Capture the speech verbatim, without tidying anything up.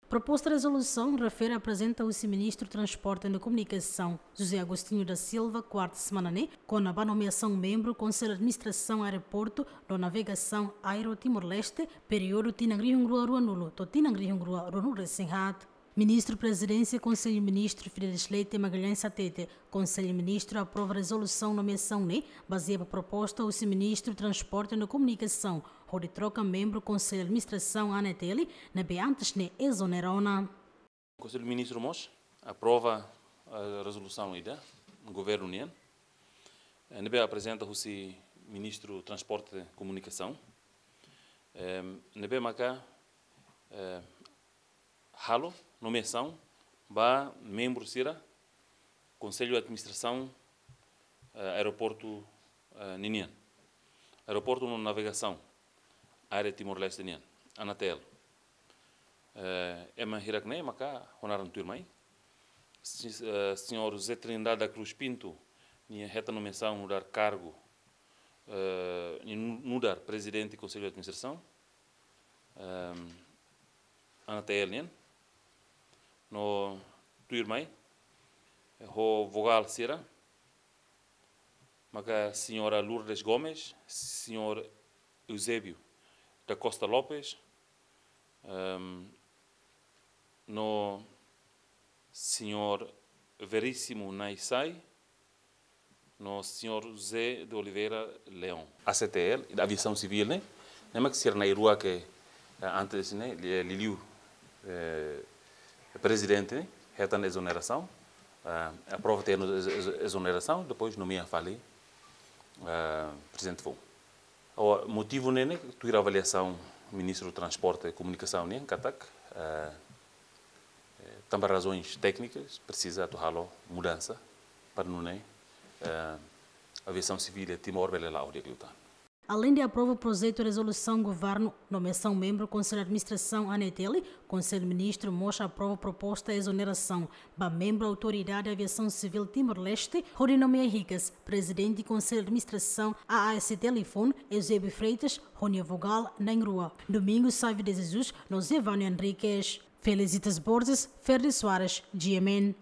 Proposta rezolusaun refere aprezenta husi Ministru Transporte no Komunikasaun, José Agostinho da Silva, kuarta semana ne'e, kona-ba nomeasaun membru Konsellu Administrasaun Aeroportu no Navegasaun Aero Timor-Leste, períodu tinan rihun rua ruanulu to'o tinan rihun rua ruanulu resin haat. Ministru Prezidénsia Konsellu Ministru Fidelis Leite Magalhães hatete, Konsellu Ministru aprova rezolusaun nomeasaun ne'e bazeia ba proposta husi Ministru Transporte no Komunikasaun, hodi troka membru Konsellu Administrasaun ANATL ne'ebé antes ne'e ezonera ona. Konsellu Ministru mós aprova, eh, rezolusaun ida governu nian, eh, ne'ebé aprezenta husi Ministru Transporte Komunikasaun, eh, ne'ebé maka, eh, halo nomeasaun ba membru sira Konsellu Administrasaun, eh, Aeroportu, eh, ninian. Aeroportu no Navegasaun Aero Timor-Leste nian, ANATL. Eh, ema hirak-ne'e maka ho naran tuirmai. Si-, eh, señór José Trindade da Cruz Pinto, nia hetan nomeasaun nu'udar kargu, eh, nia nu-, nu'udar Prezidente Konsellu Administrasaun, ehm, ANATL nian. No tuirmai, eh, ho vogál sira, maka señora Lourdes Gomes, señór Eusébio da Costa Lopes, ehm, no señór Veríssimo Naisai, no señór José de Oliveira Leão. ACTL, Aviasaun Sivíl ne'e, ne'e mak sira na'in-rua ke, eh, antes ne'e, li-, liuliu, eh, Prezidente ne'e hetan ezonerasaun, eh, aprova tiha ona ez-, ez-, ezonerasaun, depois nomeia fali, eh, Prezidente foun. Agora, motivu ne'e ne'e, tuir avaliasaun Ministru Transporte Komunikasaun nian katak, eh, eh, tanba razoens téknikas, presiza atu halo mudansa para nune'e, eh, Aviasaun Sivíl iha Timor bele la'o di'ak liután. Aleinde aprova projetu rezolusaun governu, nomeasaun membru Konsellu Administrasaun ANATL, Konsellu Ministru mós aprova proposta ezonerasaun ba membru Autoridade Aviasaun Sivíl Timor-Leste, hodi nomeia hikas Prezidente Konsellu Administrasaun AASTL foun, Eusébio Freitas, ho nia vogál na'in-rua, Domingos Sávio de Jesus no Zé Vânio Henriques. Felicitas Borges, Ferdi Soares, G M N.